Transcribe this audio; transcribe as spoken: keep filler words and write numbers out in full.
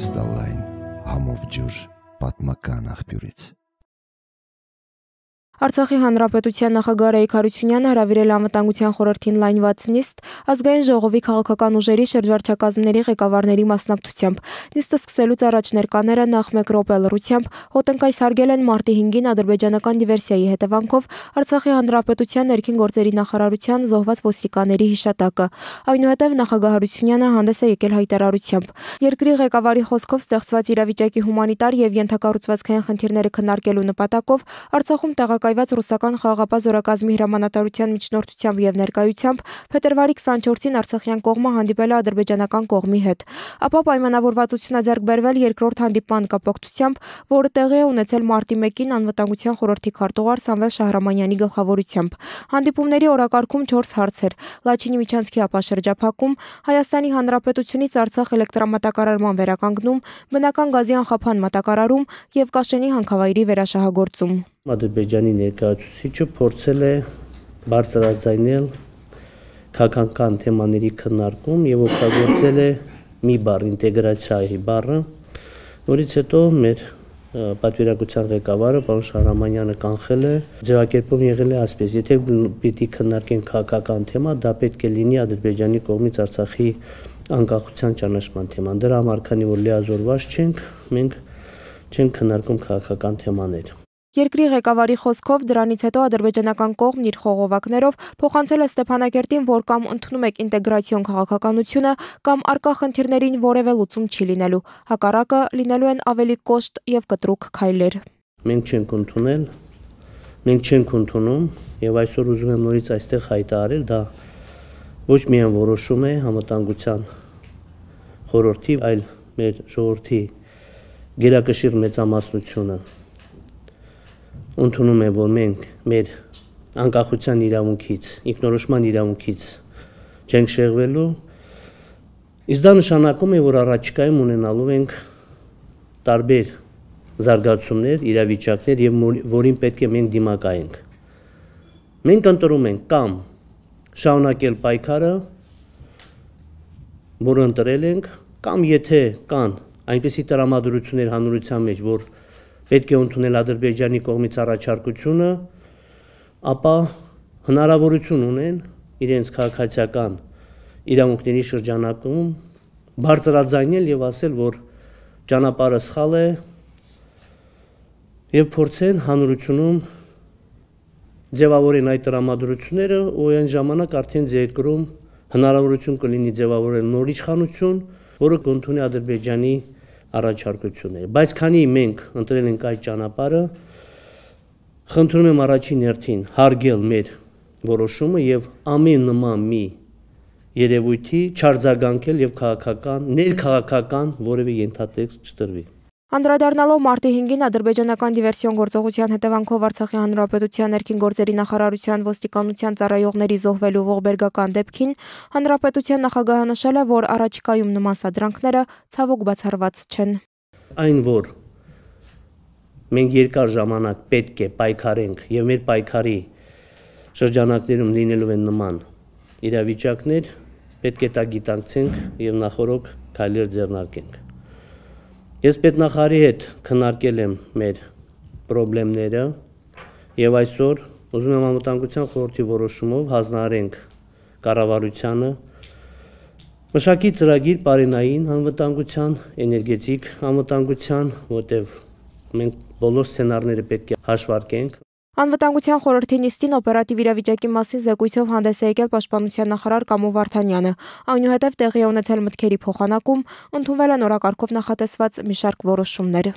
կրիստալային համով ջուր պատմական աղբյուրից։ Արցախի հանրապետության նախագահ Ռայիկ Հարությունյանը հրավիրել է Անվտանգության խորհրդին լայնված նիստ ազգային ժողովի քաղաքական ուժերի շրջվարչակազմների ղեկավարների մասնակցությամբ։ Նիստը սկսելուց առաջ ներկաները նախ մեկ րոպե լռությամբ հոտնկայս հարգել են մարտի հինգին ադրբեջանական դիվերսիայի հետևանքով Արցախի հանրապետության ներքին գործերի նախարարության զոհված ոստիկանների հիշատակը։ Այնուհետև նախագահ Հարությունյանը հանդես է եկել հայտարարությամբ։ Երկրի ղեկավարի խոսքով ստեղծված իրավիճակի հումանիտար եւ ենթակառուցվածքային խնդիրները քննարկելու նպատակով Արցախում տեղակայված ռուսական խաղաղապահ զորակազմի հրամանատարության միջնորդությամբ եւ ներկայությամբ փետրվարի քսանչորսին արցախյան կողմը հանդիպել է ադրբեջանական կողմի հետ։ Ապա պայմանավորվածություն է ձեռք բերվել երկրորդ հանդիպման կապակցությամբ, որը տեղի է ունեցել մարտի մեկին Անվտանգության խորհրդի քարտուղար Սամվել Շահրամանյանի գլխավորությամբ։ Հանդիպումների օրակարգում չորս հարցեր՝ Լաչինի միջանցքի ապաշրջափակում, Հայաստանի Հանրապետությունից Արցախ էլեկտրամատակարարման վերականգնում, բնական գազի անխափան մատակարարում եւ Կաշենի հանքավայրի վերաշահագործում։ Ադրբեջանի ներկայացուցիչը փորձել է բարձրաձայնել քաղաքական թեմաների քննարկում եւ օգտագործել է մի բառ ինտեգրացիայի բառը, որից հետո մեր պատվիրակության ղեկավարը պարոն Շահրամանյանը կանխել է, ձևակերպում եղել է այսպես. եթե պիտի քննարկենք քաղաքական թեմա, դա պետք է լինի Ադրբեջանի կողմից Արցախի անկախության ճանաչման թեման։ Դրա համար, քանի որ լիազորված չենք, մենք չենք քննարկում քաղաքական թեմաներ։ Երկրի ղեկավարի խոսքով դրանից հետո ադրբեջանական կողմն իր խողովակներով փոխանցել է Ստեփանակերտին, որ կամ ընդունում եք ինտեգրացիոն քաղաքականությունը, կամ արկա խնդիրներին որևէ լուծում չի լինելու, հակառակը լինելու են ավելի կոշտ եւ կտրուկ քայլեր։ Մենք չենք ընդունել, մենք չենք ընդունում եւ այսօր ուզում եմ նորից այստեղ հայտարարել, դա ոչ միայն որոշում է Անվտանգության խորհրդի, այլ մեր ժողովրդի գերակշիռ մեծամասնությունը ընդունում է, որ մենք մեր անկախության իրավունքից, ինքնորոշման իրավունքից չենք շեղվելու, իսկ դա նշանակում է, որ առաջիկայում ունենալու ենք տարբեր զարգացումներ, իրավիճակներ եւ որին պետք է մենք դիմակայենք։ Մենք ընտրում ենք կամ շարունակել պայքարը, որը ընտրել ենք, կամ եթե կան այնպիսի տրամադրություններ հանրության մեջ, որ պետք է ընդունել Ադրբեջանի կողմից առաջարկությունը, ապա հնարավորություն ունեն իրենց քաղաքացիական իրավունքների շրջանակում բարձրաձայնել եւ ասել, որ ճանապարհը սխալ է եւ փորձեն հանրությունում ձևավորեն այդ տրամադրությունները ու այն ժամանակ արդեն երկրում հնարավորություն կլինի ձևավորել նոր իշխանություն, որը կընդունի Ադրբեջանի առաջարկություններ, բայց քանի մենք ընտրել ենք այդ ճանապարհը, խնդրում եմ առաջին հերթին հարգել մեր որոշումը եւ ամեն նման մի երևույթի չարձագանքել եւ քաղաքական, ներքաղաքական որևէ ենթատեքստ չտրվի։ Անդրադառնալով մարտի հինգին ադրբեջանական դիվերսիոն գործողության հետևանքով Արցախի հանրապետության ներքին գործերի նախարարության ոստիկանության ծառայողների զոհվելու ողբերգական դեպքին, հանրապետության նախագահը նշել է, որ առաջիկայում նման սադրանքները ցավոք բացառված չեն։ Այն, որ մենք երկար ժամանակ պետք է պայքարենք եւ մեր պայքարի շրջանակներում լինելու են նման իրավիճակներ, պետք է դա գիտակցենք եւ նախորոք քայլեր ձեռնարկենք։ Ես պետնախարարի հետ քննարկել եմ մեր խնդիրները եւ այսօր ուզում եմ Անվտանգության խորհրդի որոշումով հանձնարարենք կառավարությանը մշակի ծրագիր բարենային անվտանգության, էներգետիկ անվտանգության, որտեղ մենք բոլոր սցենարները պետք է հաշվարկենք։ Անվտանգության խորհրդի նիստին օպերատիվ իրավիճակի մասին զեկույցով հանդես է եկել Պաշտպանության նախարար Կամո Վարդանյանը։ Այնուհետև տեղի է ունեցել մտքերի փոխանակում, ընդունվել են օրակարգով նախատեսված մի շարք որոշումներ։